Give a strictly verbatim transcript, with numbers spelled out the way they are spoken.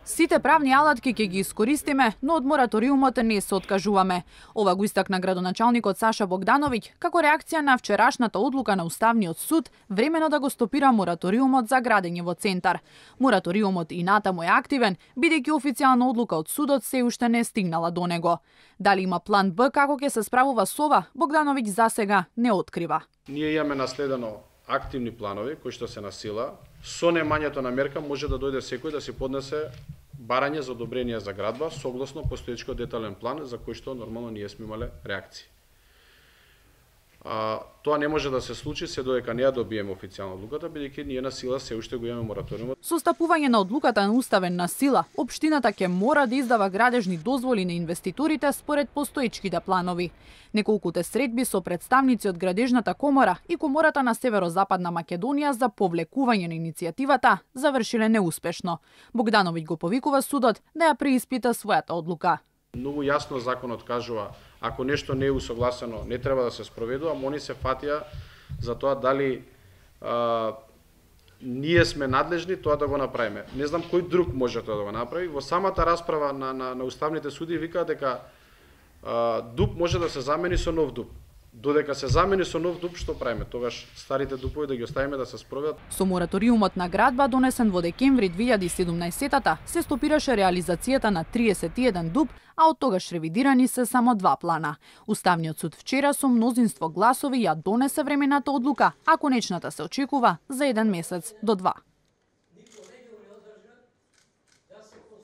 Сите правни алатки ќе ги искористиме, но од мораториумот не се откажуваме. Ова го истакна градоначалникот Саша Богдановиќ како реакција на вчерашната одлука на Уставниот суд времено да го стопира мораториумот за градење во центар. Мораториумот и натаму е активен, бидејќи официјална одлука од судот се уште не стигнала до него. Дали има план Б како ќе се справува со ова, Богдановиќ засега не открива. Ние имаме наследено активни планови кои што се на сила. Со немањето на мерка може да дојде секој да си поднесе барање за одобрение за градба согласно постоечкиот детален план за кој што нормално ние сме имале реакции. А, тоа не може да се случи се додека не ја добиеме официјална одлуката, бидејќи ние на сила се уште го имаме мораториумот. Со стапување на одлуката на уставен на сила, општината ќе мора да издава градежни дозволи на инвеститорите според постоечките планови. Неколкуте средби со представници од Градежната комора и Комората на Северозападна Македонија за повлекување на иницијативата завршиле неуспешно. Богдановиќ го повикува судот да ја преиспита својата одлука. Многу јасно законот кажува, ако нешто не е усогласено, не треба да се спроведува, ама они се фатија за тоа дали а, ние сме надлежни тоа да го направиме. Не знам кој друг може тоа да го направи. Во самата расправа на, на, на уставните суди викаат дека а, дуб може да се замени со нов дуб. Додека се замени со нов дуб, што правиме? Тогаш старите дупови да ги оставиме да се спроведат. Со мораториумот на градба донесен во декември две илјади и седумнаесетта се стопираше реализацијата на триесет и еден дуб, а од тогаш ревидирани се само два плана. Уставниот суд вчера со мнозинство гласови ја донесе времената одлука, а конечната се очекува за еден месец до два.